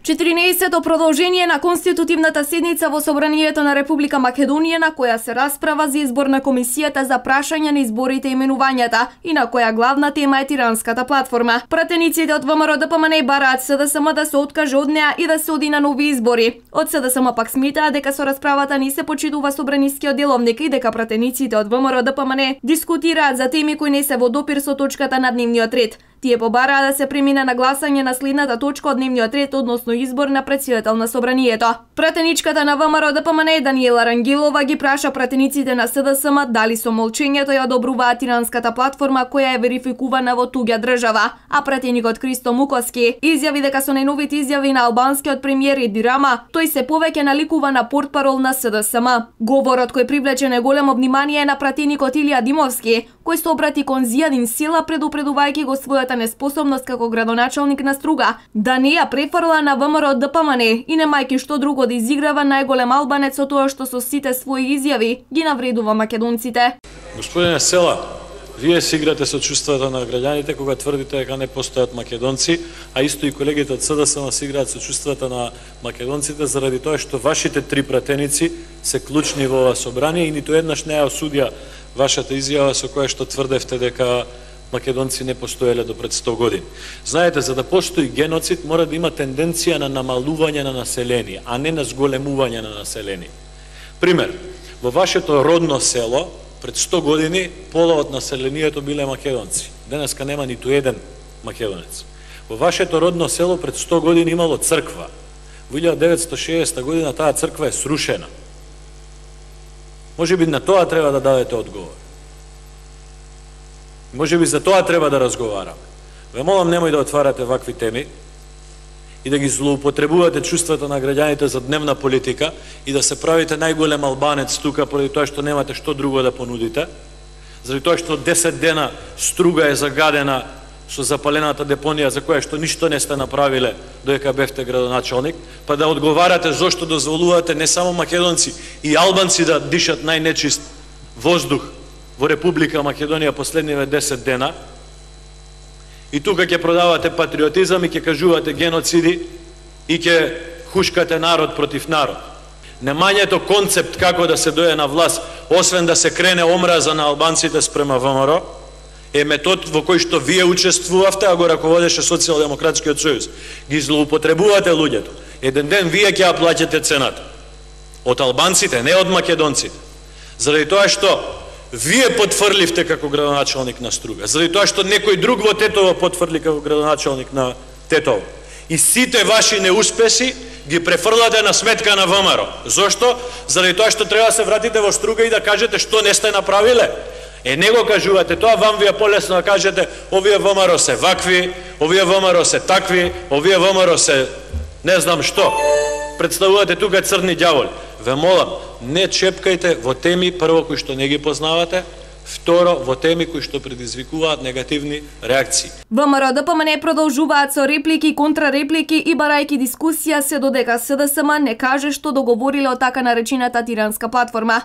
14-то продолжение на конститутивната седница во Собранието на Република Македонија, на која се расправа за избор на комисијата за прашање на изборите и именувањата и на која главна тема е Тиранската платформа. Пратениците од ВМРО-ДПМНЕ бараат СДСМ да се откаже од неа и да се оди на нови избори. Од СДСМ пак смитаат дека со расправата не се почитува собранискиот деловник и дека пратениците од ВМРО-ДПМНЕ дискутираат за теми кои не се во допир со точката на дневниот ред. Тие побараа да се премине на гласање на следната точка од дневниот ред, односно избор на претседател на Собранието. Пратеничката на ВМРО-ДПМНЕ Даниела Рангелова ги праша пратениците на СДСМ дали со молчењето ја одобруваат Тиранската платформа која е верификувана во туѓа држава, а пратеникот Христо Мукоски изјави дека со најновите изјави на албанскиот премиер Еди Рама тој се повеќе наликува на портпарол на СДСМ. Говорот кој привлече најголемо внимание е на пратеникот Илија Димовски, кој се обрати кон Зијадин Села предупредувајќи го својата неспособност како градоначалник на Струга да не ја префрла на ВМРО-ДПМНЕ и немајки што друго да изиграва најголем албанец со тоа што со сите своји изјави ги навредува македонците. Господине Села, вие си играте со чувствата на граѓаните кога тврдите дека не постојат македонци, а исто и колегите од СДСМ си играат со чувствата на македонците заради тоа што вашите три пратеници се клучни во ова собрание и ниту еднаш не ја осудија вашата изјава со која што тврдевте дека македонци не постоеле до пред 100 години. Знаете, за да постои геноцид мора да има тенденција на намалување на население, а не на зголемување на население. Пример, во вашето родно село пред 100 години пола од населението биле македонци. Денеска нема ниту еден македонец. Во вашето родно село пред 100 години имало црква. Во 1960 година таа црква е срушена. Може би на тоа треба да дадете одговор. Може би за тоа треба да разговараме. Ве молам, немој да отварате вакви теми и да ги злоупотребувате чувствата на граѓаните за дневна политика и да се правите најголем албанец тука поради тоа што немате што друго да понудите, заради тоа што 10 дена Струга е загадена со запалената депонија за која што ништо не сте направиле додека бевте градоначалник, па да одговарате зошто дозволувате не само македонци и албанци да дишат најнечист воздух во Република Македонија последниве 10 дена, и тука ќе продавате патриотизам и ќе кажувате геноциди и ќе хушкате народ против народ. Немањето концепт како да се дојде на власт, освен да се крене омраза на албанците спрема ВМРО, е метод во кој што вие учествувавте, а го раководеше Социјалдемократскиот сојуз. Ги злоупотребувате луѓето. Еден ден вие ќе ја плаќате цената. Од албанците, не од македонците. Заради тоа што вие потврливте како градоначалник на Струга, заради тоа што некој друг во Тетово потврли како градоначалник на Тетово. И сите ваши неуспеси ги префрлате на сметка на ВМРО. Зошто? Заради тоа што треба да се вратите во Струга и да кажете што не сте направиле. Не го кажувате тоа, вам ви е полесно да кажете овие ВМРО се вакви, овие ВМРО се такви, овие ВМРО се не знам што. Представувате тука црни ѓаволи. Ве молам, не чепкајте во теми прво кои што не ги познавате, второ во теми кои што предизвикуваат негативни реакции. ВМРО-ДПМНЕ продолжуваат со реплики и контрареплики и барајки дискусија се додека СДСМ не каже што договориле од така наречената Тиранска платформа.